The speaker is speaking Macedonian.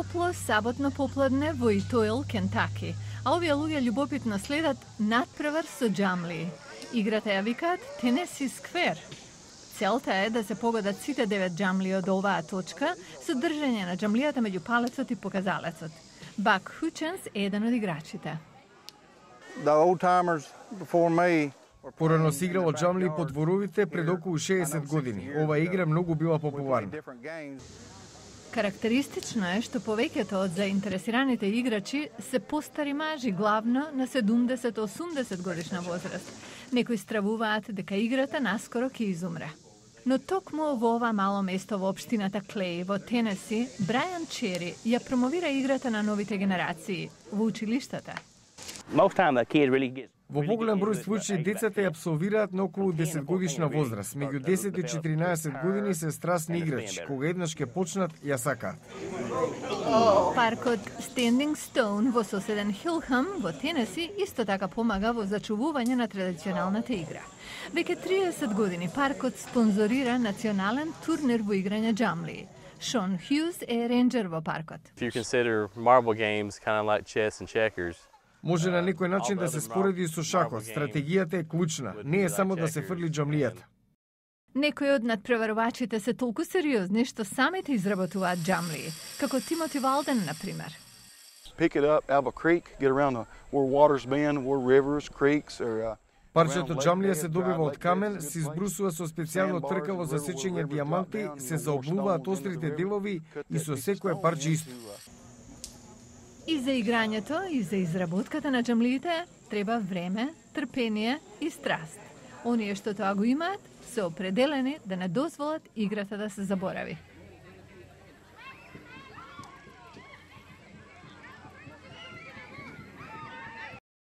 топло саботно попладне во Итоил, Кентаки, а овие луѓе љубопитно следат надпревар со џамли. Играта ја викаат Тенеси Сквер. Целта е да се погодат сите 9 џамли од оваа точка со држање на џамлијата меѓу палецот и показалецот. Бак Хученс е еден од играчите. Порано се играло џамли по дворовите пред околу 60 години. Ова игра многу била популарна. Карактеристично е што повеќето од заинтересираните играчи се постари мажи, главно на 70-80 годишна возраст. Некои стравуваат дека играта наскоро ќе изумре. Но токму во ова мало место во општината Клеј во Тенеси, Брајан Чери ја промовира играта на новите генерации во училиштата. Во поголем број случаи децата ја апсолвираат на околу 10 годишна возраст. Меѓу 10 и 14 години се страстни играчи. Кога еднаш ќе почнат, ја сакаат. Паркот Standing Stone во соседен Хилхам во Тенеси исто така помага во зачувување на традиционалната игра. Веќе 30 години паркот спонзорира национален турнир во играње џамли. Шон Хјуз е ренџер во паркот. Може на некој начин да се спореди со шахот. Стратегијата е клучна. Не е само да се фрли џамлијата. Некои од надпреварувачите се толку сериозни што самите изработуваат џамли, како Тимоти Валден, например. Парчето џамлија се добива од камен, се избрусува со специјално тркало за сечење дијаманти, се заоблуваат острите делови и со секое парче исто. И за играњето, и за изработката на џамлиите треба време, трпение и страст. Оние што тоа го имаат, се определени да не дозволат играта да се заборави.